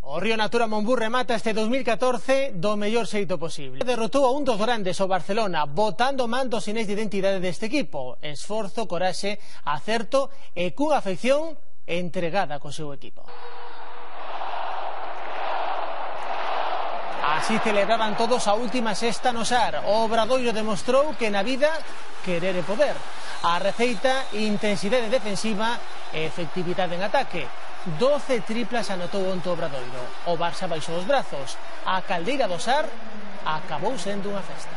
O Río Natura Monbú remata este 2014 do mellor xeito posible. Derrotou a un dos grandes, o Barcelona, botando manto sinais de identidade deste equipo. Esforzo, coraxe, acerto e cunha afección entregada co seu equipo. Así celebraban todos a última sexta no Sar. O Obradoiro demostrou que na vida querer é poder. A receita, intensidade defensiva e efectividade en ataque. 12 triplas anotou onte o Obradoiro. O Barça baixou os brazos. A caldeira do Sar acabou sendo unha festa.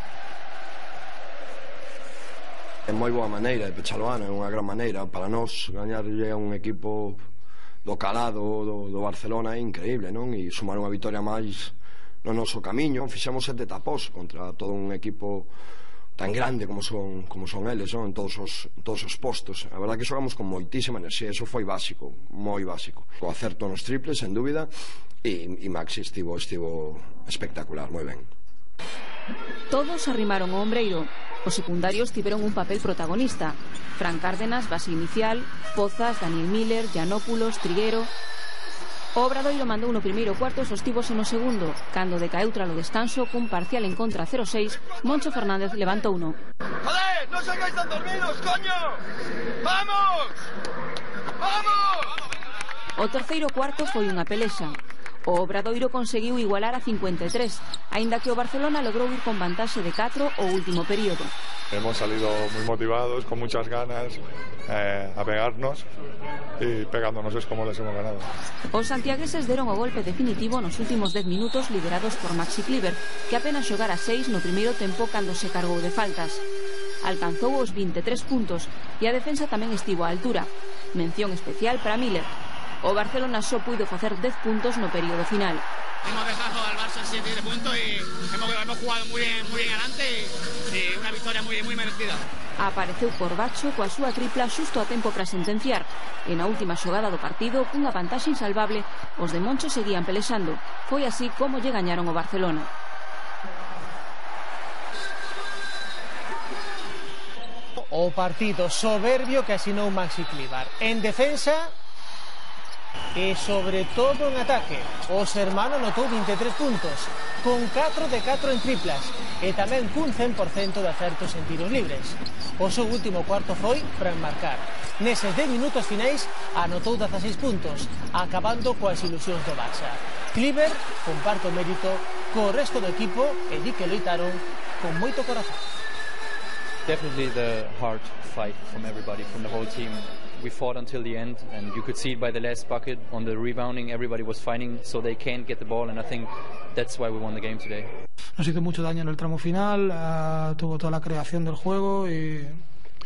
É moi boa maneira de pechar o ano, é unha gran maneira para nós gañarlle a un equipo do calado do Barcelona é increíble, non? E sumar unha vitoria máis no noso camiño. Fixemos 7 tapós contra todo un equipo tan grande como son eles, non? En todos os postos. A verdade que xogamos con moitísima enerxía, eso foi básico, moi básico. O acerto nos triples, sen dúbida, e Maxi estivo espectacular, moi ben. Todos arrimaron o ombreiro. Os secundarios tiveron un papel protagonista. Fran Cárdenas, base inicial, Pozas, Daniel Miller, Giannopoulos, Triguero. O Obradoiro mandou no primeiro cuarto e sostívose no segundo. Cando decaeu tras o descanso, cun parcial en contra 0-6, Moncho Fernández levantou uno. ¡Joder! ¡No salgáis tan dormidos, coño! ¡Vamos! ¡Vamos! O terceiro cuarto foi unha pelexa. O Obradoiro conseguiu igualar a 53, aínda que o Barcelona logrou ir con vantaxe de 4 o último período. Hemos salido muy motivados, con muchas ganas, a pegarnos, y pegándonos es como les hemos ganado. Os santiagueses deron o golpe definitivo nos últimos 10 minutos, liderados por Maxi Kleber, que apenas xogara 6 no primeiro tempo cando se cargou de faltas. Alcanzou os 23 puntos e a defensa tamén estivo á altura. Mención especial para Miller. O Barcelona só puido facer 10 puntos no período final. Hemos dejado al Barça en 7 puntos y hemos jugado muy bien adelante y una victoria muy merecida. Apareceu por Bacho coa súa tripla xusto a tempo para sentenciar. E na última xogada do partido, cunha vantaxe insalvable, os de Moncho seguían pelexando. Foi así como lle gañaron o Barcelona. O partido soberbio que asinou Maxi Kleber. En defensa e sobre todo en ataque. O Sermano anotou 23 puntos, con 4 de 4 en triplas e tamén cun 100% de acertos en tiros libres. O seu último cuarto foi para enmarcar. Neses 10 minutos finais anotou 16 puntos, acabando coas ilusións do Barça. Kleber comparte o mérito co resto do equipo e di que loitaron con moito corazón. Definitely the hard fight from everybody, from the whole team. We fought until the end, and you could see it by the last bucket on the rebounding. Everybody was fighting, so they can't get the ball, and I think that's why we won the game today. Nos hizo mucho daño en el tramo final, tuvo toda la creación del juego y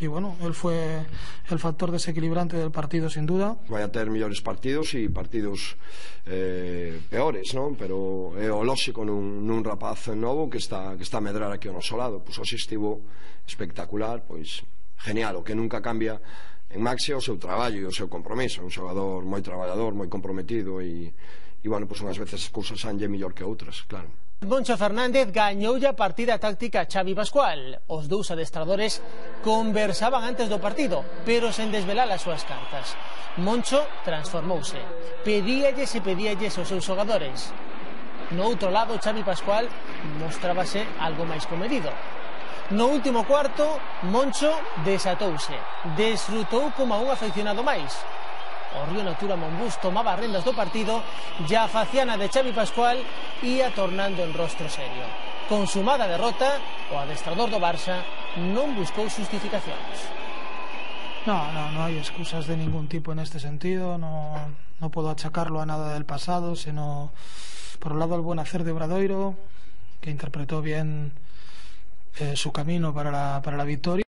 bueno, él fue el factor desequilibrante del partido sin duda. Vai a ter mellores partidos e partidos peores, non? Pero é o lóxico nun rapaz novo que está a medrar aquí ao noso lado. Pois hoxe estivo espectacular, pois genial, o que nunca cambia en Maxi o seu traballo e o seu compromiso. Un xogador moi traballador, moi comprometido e bueno, pois unhas veces as cousas sanlle mellor que outras, claro. Moncho Fernández gañoulle a partida táctica a Xavi Pascual. Os dous adestradores conversaban antes do partido, pero sen desvelar as súas cartas. Moncho transformouse. Pedíalles aos seus xogadores. No outro lado, Xavi Pascual mostrábase algo máis comedido. No último cuarto, Moncho desatouse. Desfrutou como a un afeccionado máis. O Río Natura Monbús tomaba as rendas do partido e a faciana de Xavi Pascual ia tornando en rostro serio. Consumada a derrota, o adestrador do Barça non buscou justificacións. No hay excusas de ningún tipo en este sentido, no puedo achacarlo a nada del pasado, sino por un lado el buen hacer de Obradoiro, que interpretó bien su camino para la victoria.